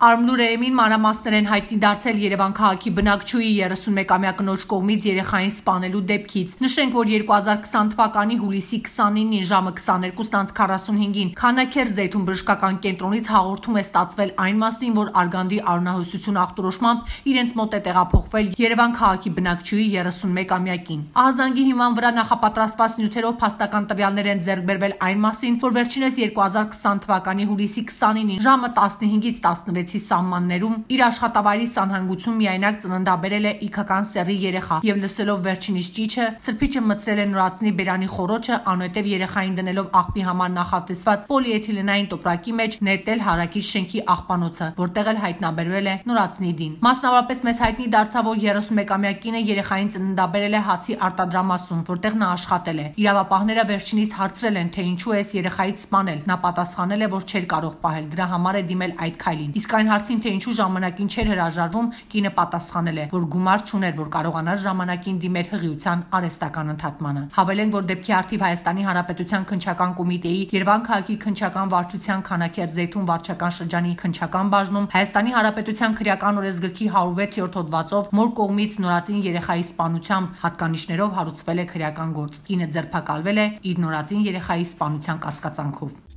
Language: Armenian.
Արմլուրեեմին մանրամասներ են հայտնի դարձել Երևան քաղաքի բնակչուհի 31-ամյա կնոջ կողմից երեխային սպանելու դեպքից։ Նշենք, որ 2020 թվականի հուլիսի 29-ին ժամը 22:45-ին Քանաքեռ Զեյթուն բժշկական կենտրոնից հաղորդում է ստացվել այն մասին, որ արգանդի արյունահոսություն ախտորոշմամբ իրենց մոտ է տեղափոխվել Երևան քաղաքի բնակչուհի 31-ամյակին։ Ահազանգի հիման վրա նախապատրաստված նյութերով փաստական տվյալներ են ձեռք բերվել այն մասին, որ վերջինս 2020 թվականի հուլիսի 29-ին ժամը 15-ից 16 սահմաններում իր աշխատավայրի սանհանգություն միայնակ ծննդաբերել է իգական սեռի երեխա եւ լսելով վերջինիս ճիչը սրբիչը մտցրել է նորածնի բերանի խոռոչը անհետև երեխային դնելով աղբի համար նախատեսված պոլիէթիլենային տոպրակի մեջ նետել հարակից շենքի աղբանոցը, որտեղ էլ հայտնաբերվել է նորածնի դին։ Մասնավորապես մեզ հայտնի դարձավ, որ 31-ամյա կինը երեխային ծննդաբերել է Հացի արտադրամասում, որտեղ նա աշխատել է։ Իրավապահները վերջինիս հարցրել են, թե ինչու է երեխայից սպանել։ Նա պատասխանել է, որ չէր կարող պահել, դրա համար է դիմել այդ քայլին։ Իսկ այն հարցին, թե ինչու ժամանակին չէր հրաժարվում, կինը պատասխանել է, որ գումար չուներ, որ կարողանար ժամանակին դիմել հղիության արհեստական ընդհատմանը։ Հավելենք, որ դեպքի առթիվ Հայաստանի Հանրապետության քննչական կոմիտեի Երևան քաղաքի քննչական վարչության Քանաքեռ Զեյթուն վարչական շրջանի քննչական բաժնում Հայաստանի Հանրապետության քրեական օրենսգրքի 106-րդ հոդվածով մոր կողմից նորածին երեխայի սպանությամբ հատկանիշներով հարուցվել է քրեական գործ։ Կինը ձերբակալվել է իր նորածին երեխայի սպանության կասկածանքով։